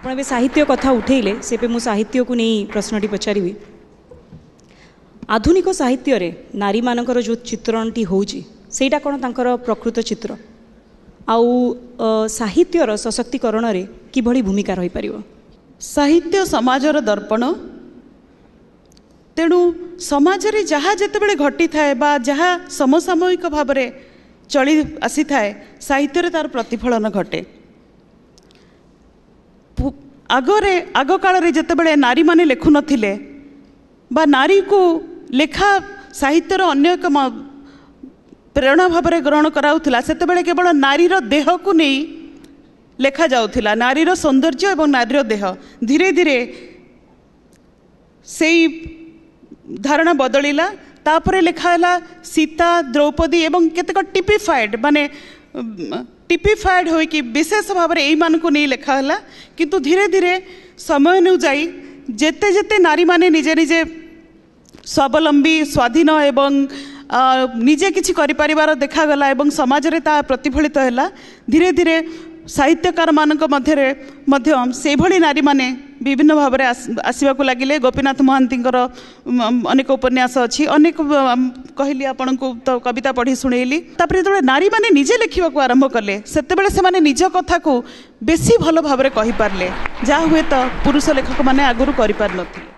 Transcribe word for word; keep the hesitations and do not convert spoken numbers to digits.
ଆପଣ ଏବେ ସାହିତ୍ୟ କଥା ଉଠେଇଲେ, ସେବେ ମୁଁ ସାହିତ୍ୟକୁ ନେଇ ପ୍ରଶ୍ନଟି ପଚାରିବି। ଆଧୁନିକ ସାହିତ୍ୟରେ ନାରୀମାନଙ୍କର ଯେଉଁ ଚିତ୍ରଣଟି ହେଉଛି, ସେଇଟା କ'ଣ ତାଙ୍କର ପ୍ରକୃତ ଚିତ୍ର? ଆଉ ସାହିତ୍ୟର ସଶକ୍ତିକରଣରେ କିଭଳି ଭୂମିକା ରହିପାରିବ? ସାହିତ୍ୟ ସମାଜର ଦର୍ପଣ। ତେଣୁ ସମାଜରେ ଯାହା ଯେତେବେଳେ ଘଟିଥାଏ ବା ଯାହା ସମସାମୟିକ ଭାବରେ ଚଳି ଆସିଥାଏ, ସାହିତ୍ୟରେ ତାର ପ୍ରତିଫଳନ ଘଟେ। ଆଗରେ ଆଗକାଳରେ ଯେତେବେଳେ ନାରୀମାନେ ଲେଖୁନଥିଲେ ବା ନାରୀକୁ ଲେଖା ସାହିତ୍ୟର ଅନ୍ୟ ଏକ ପ୍ରେରଣା ଭାବରେ ଗ୍ରହଣ କରାଉଥିଲା, ସେତେବେଳେ କେବଳ ନାରୀର ଦେହକୁ ନେଇ ଲେଖାଯାଉଥିଲା, ନାରୀର ସୌନ୍ଦର୍ଯ୍ୟ ଏବଂ ନାରୀର ଦେହ। ଧୀରେ ଧୀରେ ସେଇ ଧାରଣା ବଦଳିଲା। ତାପରେ ଲେଖା ହେଲା ସୀତା, ଦ୍ରୌପଦୀ ଏବଂ କେତେକ ଟିପିଫାଏଡ୍, ମାନେ ଟିପିଫାଏଡ୍ ହୋଇକି ବିଶେଷ ଭାବରେ ଏଇମାନଙ୍କୁ ନେଇ ଲେଖା ହେଲା। କିନ୍ତୁ ଧୀରେ ଧୀରେ ସମୟ ଅନୁଯାୟୀ ଯେତେ ଯେତେ ନାରୀମାନେ ନିଜେ ନିଜେ ସ୍ୱାବଲମ୍ବୀ, ସ୍ୱାଧୀନ ଏବଂ ନିଜେ କିଛି କରିପାରିବାର ଦେଖାଗଲା ଏବଂ ସମାଜରେ ତାହା ପ୍ରତିଫଳିତ ହେଲା, ଧୀରେ ଧୀରେ ସାହିତ୍ୟକାରମାନଙ୍କ ମଧ୍ୟରେ ମଧ୍ୟ ସେଇଭଳି ନାରୀମାନେ ବିଭିନ୍ନ ଭାବରେ ଆସିବାକୁ ଲାଗିଲେ। ଗୋପୀନାଥ ମହାନ୍ତିଙ୍କର ଅନେକ ଉପନ୍ୟାସ ଅଛି, ଅନେକ କହିଲି ଆପଣଙ୍କୁ ତ କବିତା ପଢ଼ି ଶୁଣେଇଲି। ତାପରେ ଯେତେବେଳେ ନାରୀମାନେ ନିଜେ ଲେଖିବାକୁ ଆରମ୍ଭ କଲେ, ସେତେବେଳେ ସେମାନେ ନିଜ କଥାକୁ ବେଶୀ ଭଲ ଭାବରେ କହିପାରିଲେ, ଯାହା ହୁଏତ ପୁରୁଷ ଲେଖକମାନେ ଆଗରୁ କରିପାରିନଥିଲେ।